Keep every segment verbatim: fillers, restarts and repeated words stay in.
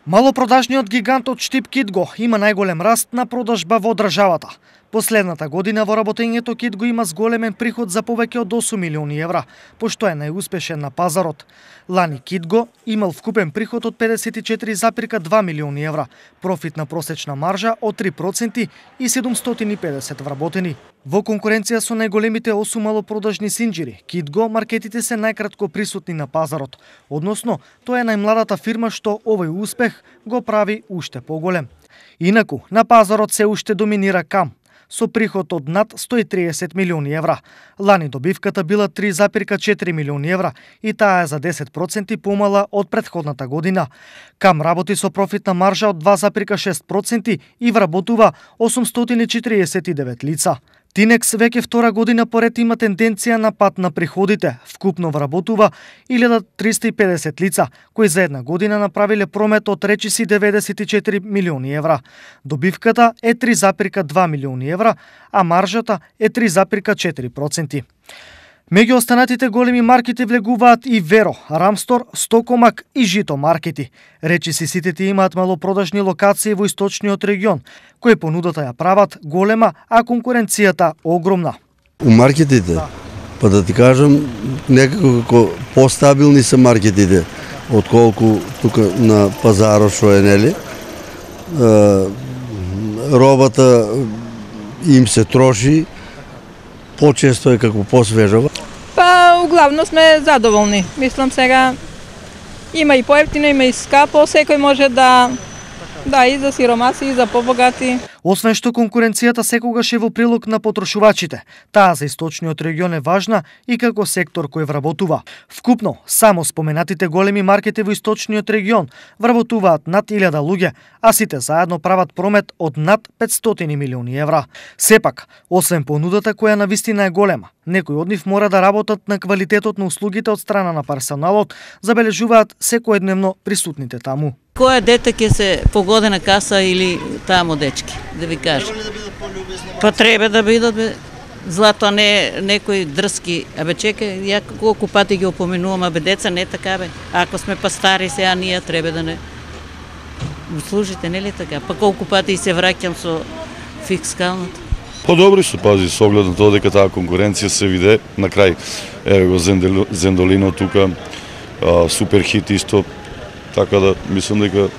Малопродажниот гигант од Штип Кидго има најголем раст на продажба во државата. Последната година во работењето Кидго има зголемен приход за повеќе од осум милиони евра, пошто е најуспешен на пазарот. Лани Кидго имал вкупен приход од педесет и четири запирка два милиони евра, профитна просечна маржа од три проценти и седумстотини и педесет вработени. Во конкуренција со најголемите осум малопродажни синџири, Кидго маркетите се најкратко присутни на пазарот, односно тоа е најмладата фирма што овој успех го прави уште поголем. Инаку, на пазарот се уште доминира Кам, со приход од над сто и триесет милиони евра. Лани добивката била три запирка четири милиони евра и таа е за десет проценти помала од претходната година. Кам работи со профитна маржа од два запирка шест проценти и вработува осумстотини и четириесет и девет лица. Тинекс веќе втора година поред има тенденција на пат на приходите. Вкупно вработува илјада триста и педесет лица, кои за една година направиле промет од речиси деветдесет и четири милиони евра. Добивката е три запирка два милиони евра, а маржата е три запирка четири проценти. Меѓу останатите големи маркети влегуваат и Веро, Рамстор, Стокомак и Жито маркети. Речиси сите ти имаат малопродажни локации во источниот регион, кои понудата ја прават голема, а конкуренцијата огромна. У маркетите, па да ти кажам, некако постабилни се маркетите, отколку тука на пазарот што е, нели? Робата им се троши, почесто е како посвежава. Па, углавно сме задоволни. Мислам сега има и поевтино, има и скапо, секој може да да и за сиромаси, и за побогати. Освен што конкуренцијата секогаш е во прилог на потрошувачите, таа за источниот регион е важна и како сектор кој вработува. Вкупно, само споменатите големи маркети во источниот регион вработуваат над илјада луѓе, а сите заедно прават промет од над петстотини милиони евра. Сепак, освен понудата која навистина е голема, некои од нив мора да работат на квалитетот на услугите од страна на персоналот, забележуваат секојдневно присутните таму. Која дете ќе се погоди на каса или тамо дечки, да ви кажа. Па треба да бидат, бе. Злато, а не некои дрски. Абе чекај, ја колку пати ги опоменувам, абе деца не така бе. Ако сме па стари сега, ние треба да не служите, нели така? Па колку пати се враќам со фискалната. Подобри се, пази, со оглед на тоа дека таа конкуренција се виде на крај. Еве го Зендолино тука, супер хит исто. Така да, мислам дека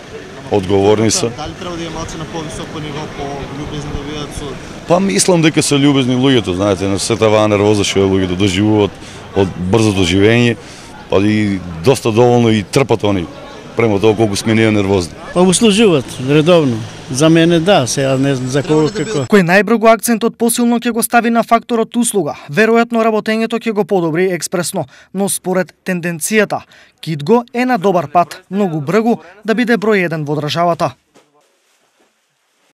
одговорни се. Дали треба да има малце на повисоко ниво, по-љубезни да бидат со... Па мислам дека се љубезни луѓето, знаете, на сета оваа нервоза што луѓето доживуваат од брзото живење, па и доста доволно и трпат они према тоа колку сме ние нервозни. Па услужуваат редовно. За мене да, сега не знам за кого како. Кој најброго акцентот посилно ќе го стави на факторот услуга, веројатно работењето ќе го подобри експресно, но според тенденцијата, Кидго е на добар пат, многу брзо да биде број еден во државата.